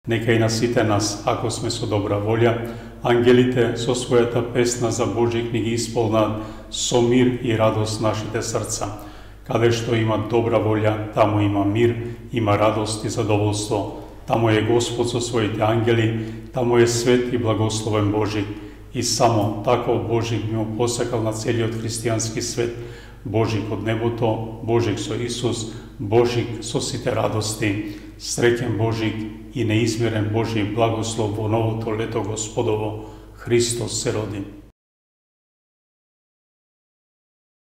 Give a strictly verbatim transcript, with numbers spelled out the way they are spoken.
Нека и на сите нас, ако сме со добра волја, ангелите со својата песна за Божи книги исполнат со мир и радост нашите срца. Каде што има добра волја, таму има мир, има радост и задоволство. Таму е Господ со своите ангели, таму е свет и благословен Божик. И само таков Божик ми го посакал на целиот христијански свет. Божик од небото, Божик со Исус, Божик со сите радости. Среќен Божик и неизмерен Божи благослов во новото лето Господово. Христос се роди.